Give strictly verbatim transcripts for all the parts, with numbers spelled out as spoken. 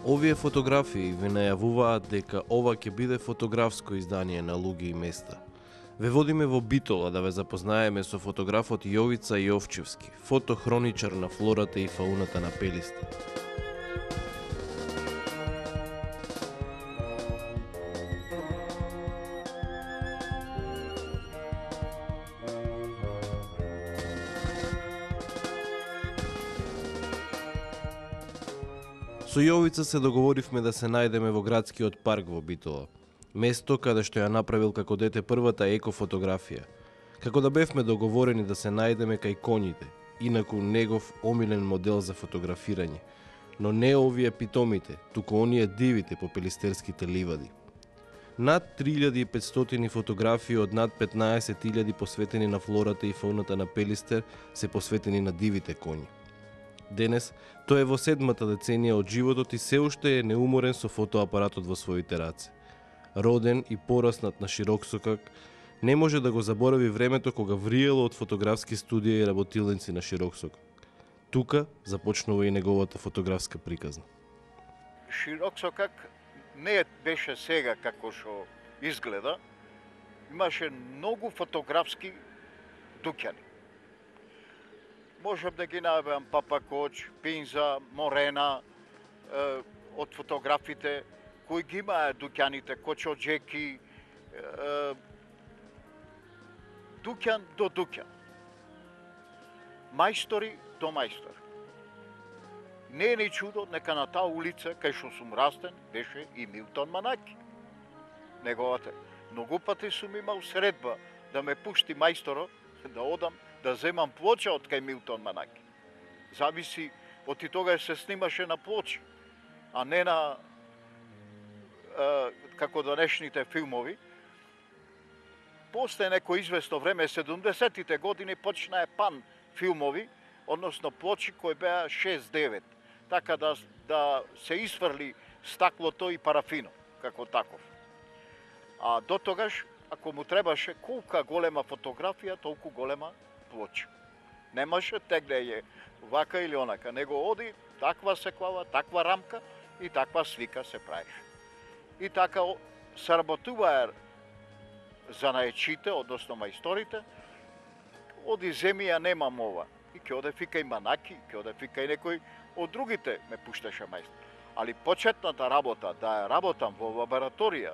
Овие фотографии ви најавуваат дека ова ќе биде фотографско издание на луѓе и места. Ве водиме во Битола да ве запознаеме со фотографот Јовица Јовчевски, фотохроничар на флората и фауната на Пелистер. Со Јовица се договоривме да се најдеме во градскиот парк во Битола, место каде што ја направил како дете првата екофотографија, како да бевме договорени да се најдеме кај коњите, инаку негов омилен модел за фотографирање, но не овие питомите, туку оние дивите по пелистерските ливади. Над три илјади и петстотини фотографии од над петнаесет илјади посветени на флората и фауната на Пелистер се посветени на дивите коњи. Денес, тој е во седмата деценија од животот и се уште е неуморен со фотоапаратот во своите раце. Роден и пораснат на Широксокак, не може да го заборави времето кога вриело од фотографски студија и работилници на Широксокак. Тука започнува и неговата фотографска приказна. Широксокак не беше сега како што изгледа, имаше многу фотографски дуќани. Можам да ги најавам Папа Коч, Пинза, Морена, е, од фотографите, кои ги имаа дуќаните, Кочоджеки, е, дуќан до дуќан. Мајстори до мајстори. Не е ни чудо, нека на таа улица, кај што сум растен, беше и Милтон Манаки. Неговата. Многу пати сум имал средба да ме пушти мајсторо, да одам, да земам плоча од кај Милтон Манаки. Зависи, од и тогаш се снимаше на плочи, а не на е, како денешните филмови. После неко известно време, седумдесетите години, почнаа пан филмови, односно плочи кои беа шест-девет, така да, да се изфрли стаклото и парафино, како таков. А до тогаш, ако му требаше колка голема фотографија, толку голема плоча. Немаше тегнење вака или онака, него оди таква секлава, таква рамка и таква слика се правеше. И така сработуваа занаечите, односно мајсторите, оди земја немам ова. И ќе оде фика и Манаки, ќе оде фика и некој од другите ме пушташе мајстор. Али почетната работа, да ја работам во лабораторија,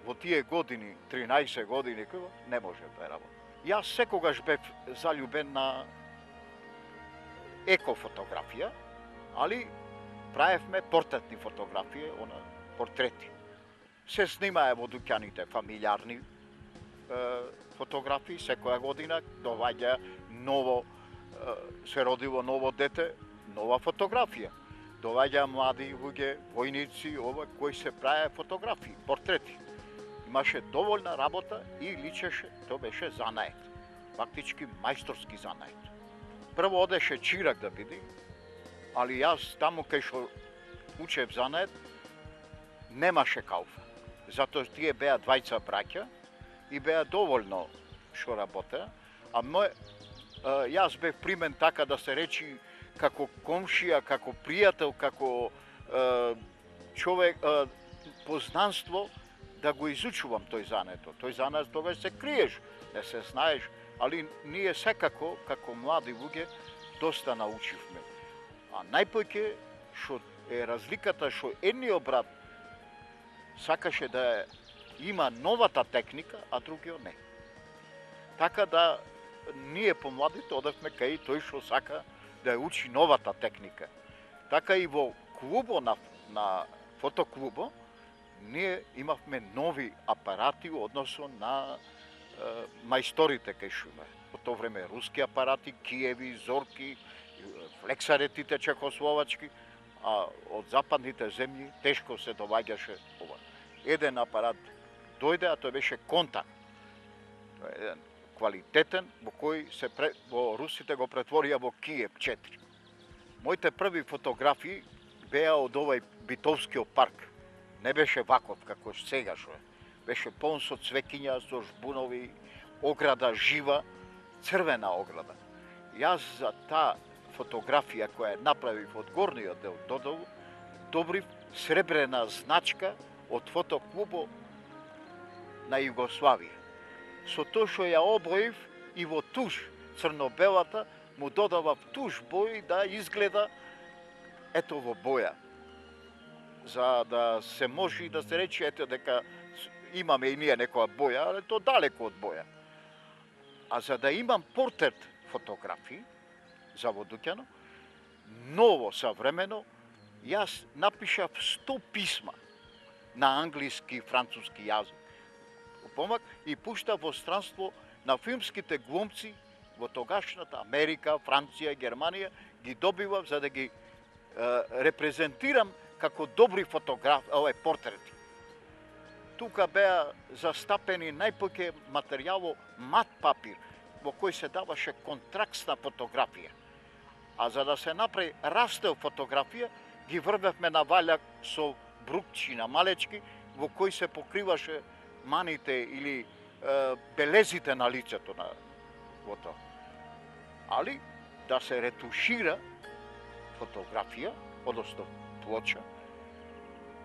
во тие години, тринаесет години, не може да ја работам. Јас секогаш бев заљубен на екофотографија, али правевме портретни фотографии, она портрети. Се снимае во дуќаните фамилиарни е, фотографии, секоја година доваѓа ново, е, се родило ново дете, нова фотографија. Доваѓа млади луѓе, војници, ова, кои се праве фотографии, портрети. Имаше доволна работа и личеше, тоа беше занает. Фактички мајсторски занает. Прво одеше чирак да биде, али јас таму кај што учев занает, немаше кауфа. Затоа тие беа двајца браќа и беа доволно што работеа, а мој, јас бев примен така да се речи како комшија, како пријател, како е, човек, е, познанство, да го изучувам тој зането. Тој занет тогаш се криеш, не се знаеш, али ние секако, како млади луѓе, доста научивме. А најпоќе што е разликата што едниот брат сакаше да има новата техника, а другиот не. Така да ние помладите одевме кај тој што сака да ја учи новата техника. Така и во клубо, на, на фотоклубо, ние имавме нови апарати односно на е, мајсторите кај шуме. По тоа време руски апарати, Киеви, Зорки, флексаретите чехословачки, а од западните земји тешко се доваѓаше ова. Еден апарат дојде, а тој беше Контак. Еден квалитетен, во кој се пре, во русите го претворија во Киев четири. Моите први фотографии беа од овај Битовскиот парк. Не беше ваков како сега што е. Беше полн со цвекиња, со жбунови, ограда жива, црвена ограда. Јас за таа фотографија која направив од горниот дел додолу, добрив сребрена значка од фотоклубо на Југославија. Со тоа што ја обоив и во туш, црно-белата, му додавав туш бој да изгледа ето во боја. За да се може да се рече ето дека имаме и ние некоја боја, але то далеко од боја. А за да имам портрет фотографии за Водуќано, ново, современо, јас напишав сто писма на англиски и француски јазик. Помак и пуштав во странство на филмските глумци во тогашната Америка, Франција, Германија, ги добивав за да ги е, репрезентирам како добри фотографи, овој портрети. Тука беа застапени најпоќе материјало мат папир, во кој се даваше контракстна фотографија. А за да се направи растел фотографија, ги врвевме на ваљак со брукчина малечки, во кој се покриваше маните или е, белезите на лицето на во тоа. Али да се ретушира фотографија, односно плоча,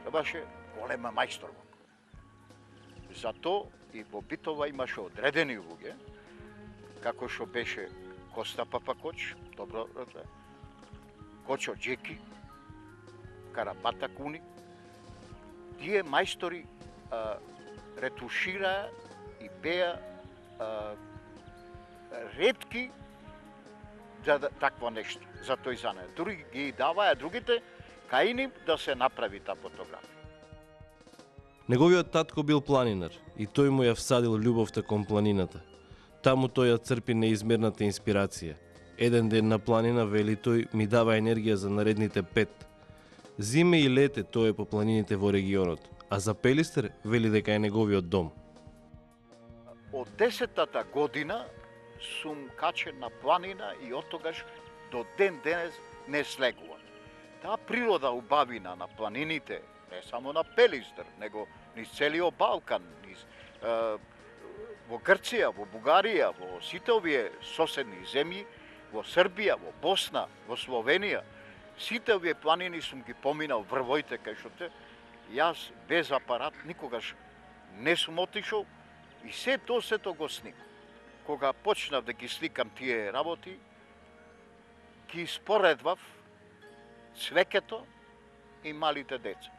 требаше голема мајстор. Зато и во Битова имаше одредени луѓе, како што беше Коста Папакоч, добро раде, Кочо Джеки, Карабата Куни. Тие мајстори а, ретушираа и беа а, ретки за такво нешто, за тој за не. Други ги даваја другите кај нив да се направи таа фотографија. Неговиот татко бил планинар и тој му ја всадил љубовта кон планината. Таму тој ја црпи неизмерната инспирација. Еден ден на планина, вели тој, ми дава енергија за наредните пет. Зиме и лете тој е по планините во регионот, а за Пелистер вели дека е неговиот дом. Од десетата година сум качен на планина и од тогаш до ден денес не слегувам. Таа природа убавина на планините, не само на Пелистер, него низ целиот Балкан, низ, е, во Грција, во Бугарија, во сите овие соседни земји, во Србија, во Босна, во Словенија, сите овие планини сум ги поминал врвоите кај што те, јас без апарат никогаш не сум отишол и се тоа сето го снимам. Кога почнав да ги сликам тие работи, ги споредвав цвеќето и малите деца.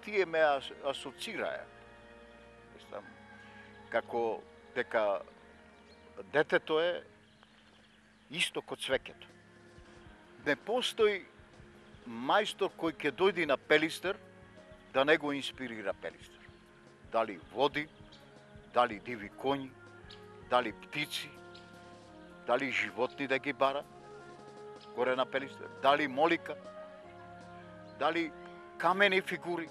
Тие ме асоцираја. Како дека детето е исто ко цвеќето. Не постои мајстор кој ќе дојде на Пелистер да не го инспирира Пелистер. Дали води, дали диви коњи, дали птици, дали животни да ги бара горе на Пелистер, дали молика, дали камени фигури,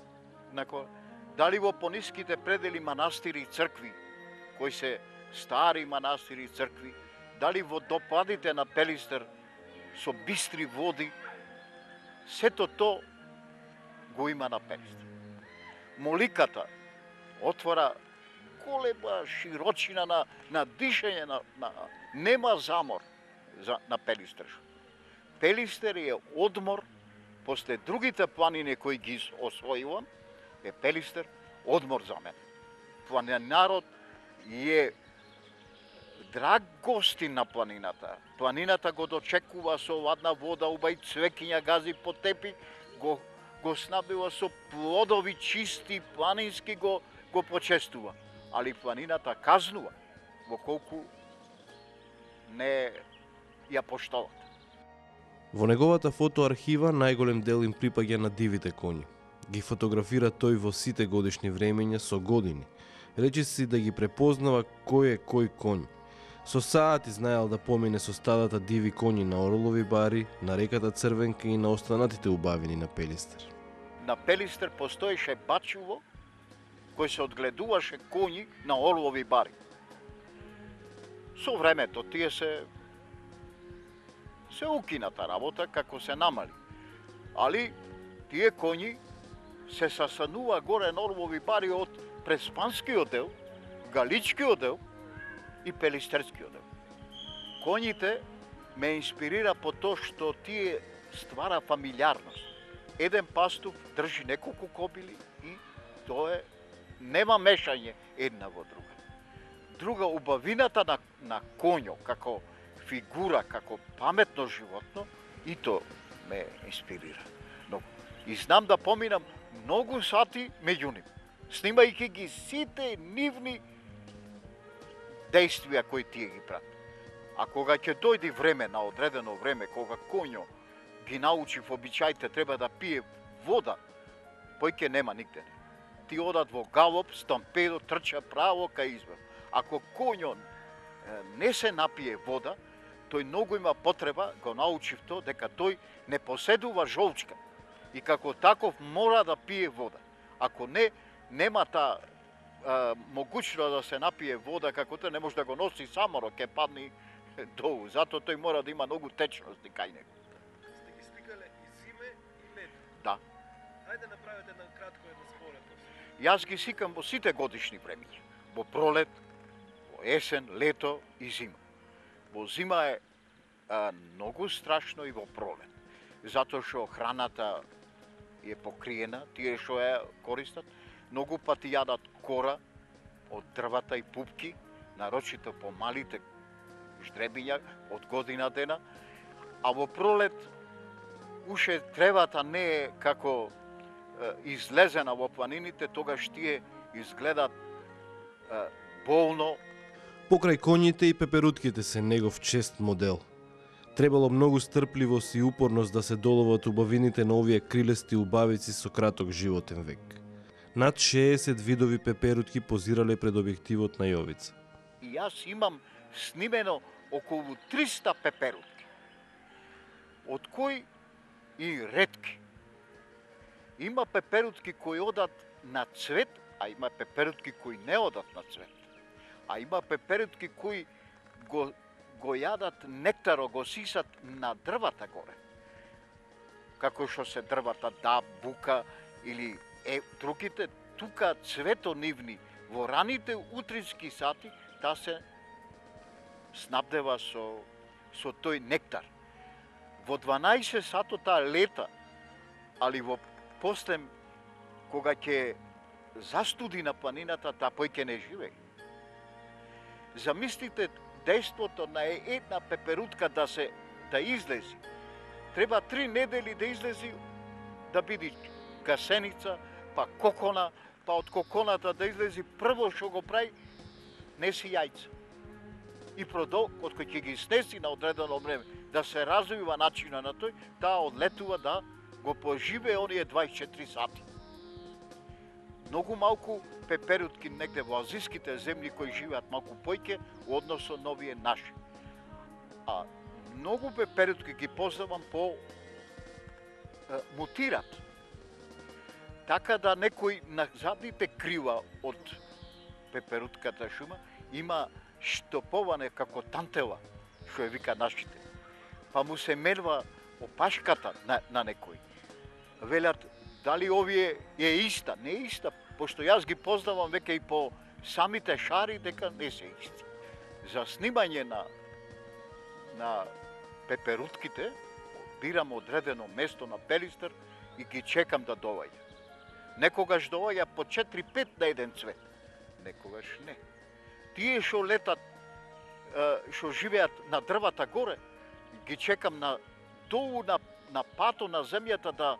дали во пониските предели манастири и цркви, кои се стари манастири и цркви, дали во допадите на Пелистер со бистри води, сето то го има на Пелистер. Моликата отвора голема широчина на, на дишење, на, на, нема замор за, на Пелистер. Пелистер е одмор, после другите планини кои ги освојувам, е Пелистер одмор за мене. Планинарот е драг гостин на планината. Планината го дочекува со ладна вода, убај цвекиња, гази по тепи, го, го снабдува со плодови чисти, планински го, го почестува. Али планината казнува во колку не ја поштоват. Во неговата фотоархива најголем дел им припаѓа на дивите коњи. Ги фотографира тој во сите годишни времења со години. Речиси да ги препознава кој е кој конј. Со саати знаел да помине со стадата диви коњи на Орлови бари, на реката Црвенка и на останатите убавини на Пелистер. На Пелистер постоеше бачуво кој се одгледуваше коњи на Орлови бари. Со времето тие се се укината работа како се намали. Али тие коњи се састанува горе на Орлови бари од Преспанскиот дел, Галичкиот дел и Пелистерскиот дел. Коњите ме инспирира по тоа што тие ствара фамилиарност. Еден пастув држи неколку кобили и тоа е нема мешање една во друга. Друга, убавината на, на коњо како фигура, како паметно животно, и то ме инспирира. Но и знам да поминам многу сати меѓу нив, снимајќи ги сите нивни действија кои тие ги прават. А кога ќе дојде време, на одредено време, кога коњо ги научи в обичаите треба да пие вода, појќе нема нигде. Ти одат во галоп, стампедо, трча право кај извор. Ако коњо не се напие вода, тој многу има потреба, го научив то, дека тој не поседува жолчка и како таков мора да пие вода. Ако не, нема таа могуќност да се напие вода, како тој не може да го носи саморо, ќе падне долу. Затоа тој мора да има многу течности кај него. Сте ги сликале и зиме и лето. Да. Ајде направете на кратко една споредност. Јас ги сикам во сите годишни времиња. Во пролет, во есен, лето и зима. Во зима е а, многу страшно и во пролет. Затоа што храната е покриена, тие што ја користат, многу пати јадат кора од дрвата и пупки, нарочито по малите ждребиња од година дена, а во пролет уште тревата не е како е, излезена во планините, тогаш тие изгледат е, болно. Покрај коњите и пеперутките се негов чест модел. Требало многу стрпливост и упорност да се доловат убавините на овие крилести убавици со краток животен век. Над шеесет видови пеперутки позирале пред објективот на Јовица. И јас имам снимено околу триста пеперутки, од кои и ретки. Има пеперутки кои одат на цвет, а има пеперутки кои не одат на цвет. А има пеперутки кои го, го јадат нектаро, го сисат на дрвата горе. Како што се дрвата да, бука или е, другите, тука цвето нивни во раните утрински сати, та се снабдева со, со тој нектар. Во дванаесет сато таа лета, али во постем, кога ќе застуди на планината, таа појќе не живее. Замислите дејството на една пеперутка да се да излези. Треба три недели да излези да биде гасеница, па кокона, па од коконата да излези прво што го прави, неси јајца. И продол, од кој ќе ги снеси на одредено време, да се развива начина на тој, таа одлетува да го поживее оние дваесет и четири сати. Многу малку пеперутки негде во азиските земји кои живеат малку појќе односно на овие наши. А многу пеперутки ги познавам по е, мутират. Така да некој на задните крила од пеперутката шума има штоповане како тантела, што ја вика нашите. Па му се мерва опашката на, на некој. Велат, дали овие е иста? Не е иста, пошто јас ги познавам веќе и по самите шари, дека не се исти. За снимање на, на пеперутките, бирам одредено место на Пелистер и ги чекам да доаѓа. Некогаш доаѓа по четири-пет на еден цвет, некогаш не. Тие што летат, што живеат на дрвата горе, ги чекам на долу на, на пато на земјата да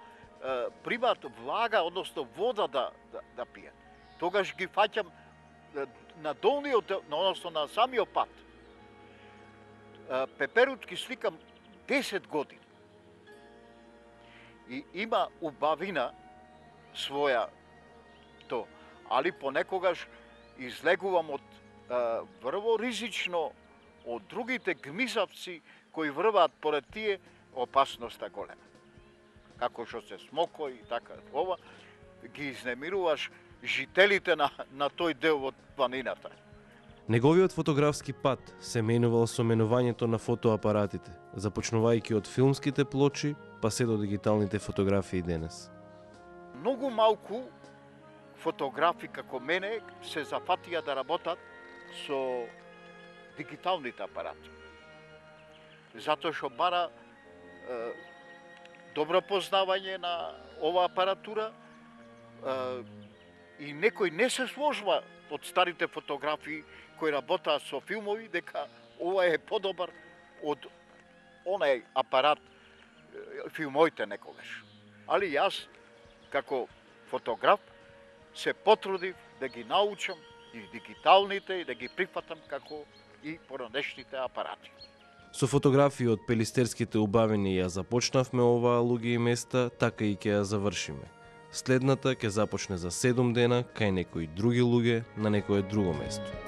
е, примат влага, односно вода да, да, да пијат. Тогаш ги фаќам е, на долниот, односно на самиот пат. Е, пеперутки сликам десет години. и има убавина своја то, али понекогаш излегувам од а, врво ризично од другите гмизавци кои врваат поред тие, опасноста голема. Како што се смокој и така, ова, ги изнемируваш жителите на, на тој дел од планината. Неговиот фотографски пат се менувал со менувањето на фотоапаратите, започнувајќи од филмските плочи, па се до дигиталните фотографии денес. Многу малку фотографи како мене се зафатија да работат со дигиталните апарати. Затоа што бара е, добро познавање на оваа апаратура е, и некој не се сложва од старите фотографии кои работаат со филмови дека ова е подобар од онај апарат филмоите некогаш. Али јас како фотограф се потрудив да ги научам и дигиталните и да ги прифатам како и поранешните апарати. Со фотографии од пелистерските убавини ја започнавме оваа луѓе и места, така и ќе ја завршиме. Следната ќе започне за седум дена кај некои други луѓе на некое друго место.